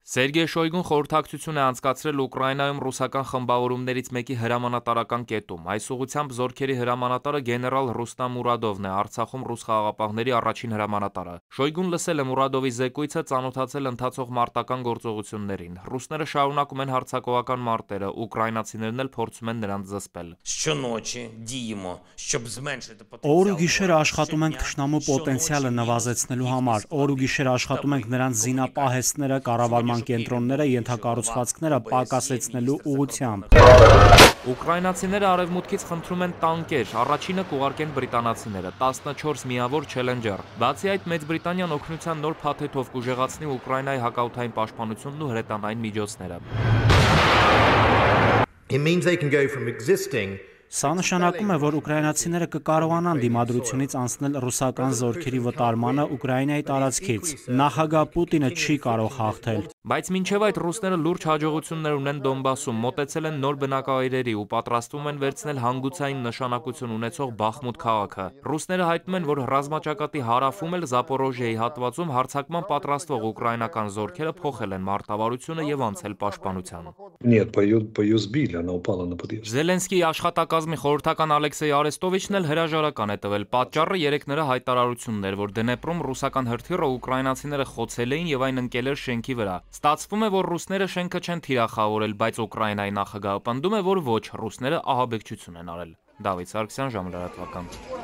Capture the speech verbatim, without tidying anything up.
Սերգեյ Շոյգուն խորհրդակցություն է անցկացրել Ուկրաինայում ռուսական խմբավորումներից մեկի հրամանատարական կետում։ Այս ուղղությամբ զորքերի հրամանատարը գեներալ Ռուստամ Մուրադովն է, Արցախում ռուս խաղաղապահների առաջին հրամանատարը։ Շոյգուն լսել է Մուրադովի զեկույցը, ծանոթացել ընթացող մարտական գործողություններին։ Ռուսները շարունակում են հարձակողական մարտերը, ուկրաինացիներն էլ փորձում են նրանց զսպել։ Օր ու գիշեր աշխատում ենք թշնամու պոտենցիալը նվազեցնելու համար։ Օր ու գիշեր աշխատում ենք նրանց զինապահեստները, կառավարման կենտրոնները, ենթակառուցվածքները պակասեցնելու ուղղությամբ։ Ուկրաինացիները արևմուտքից խնդրում են տանկեր, առաջինը կուղարկեն բրիտանացիները, տասնչորս միավոր Challenger։ Բացի այդ, Մեծ Բրիտանիան օգնության նոր փաթեթով կուժեղացնի Ուկրաինայի հակաօդային պաշտպանությունն ու հրետանային միջոցները։ Սա նշանակում է, որ ուկրաինացիները կկարողանան դիմադրությունից անցնել ռուսական զորքերի վտարմանը Ուկրաինայի տարածքից։ Նախագահ Պուտինը չի կարող հաղթել։ Բայց մինչև այդ ռուսները լուրջ հաջողություններ ունեն Դոնբասում, մոտեցել են նոր բնակավայրերի ու պատրաստվում են վերցնել հանգուցային նշանակություն ունեցող Բախմուտ քաղաքը։ Ռուսները հայտնում են, որ ռազմաճակատի հարավում էլ Զապորոժիայի հատվածում հարձակման պատրաստվող ուկրաինական զորքերը փոխել են մարտավարությունը եւ անցել պաշտպանության։ Զելենսկիի աշխատակազմի խորհրդական Ալեքսեյ Արեստովիչն էլ հրաժարական է տվել։ Պատճառը երեք նրա հայտարարությունն էր, որ Դնեպրում ռուսական հրթիռը ուկրաինացիները խոցել էին եւ այն ընկել էր շենքի վրա։ Ստացվում է, որ ռուսները շենքը չեն թիրախավորել, բայց Ուկրաինայի նախագահը պնդում է, որ ոչ, ռուսները ահաբեկչություն են արել։ Դավիթ Սարգսյան, Ժամը լրատվական։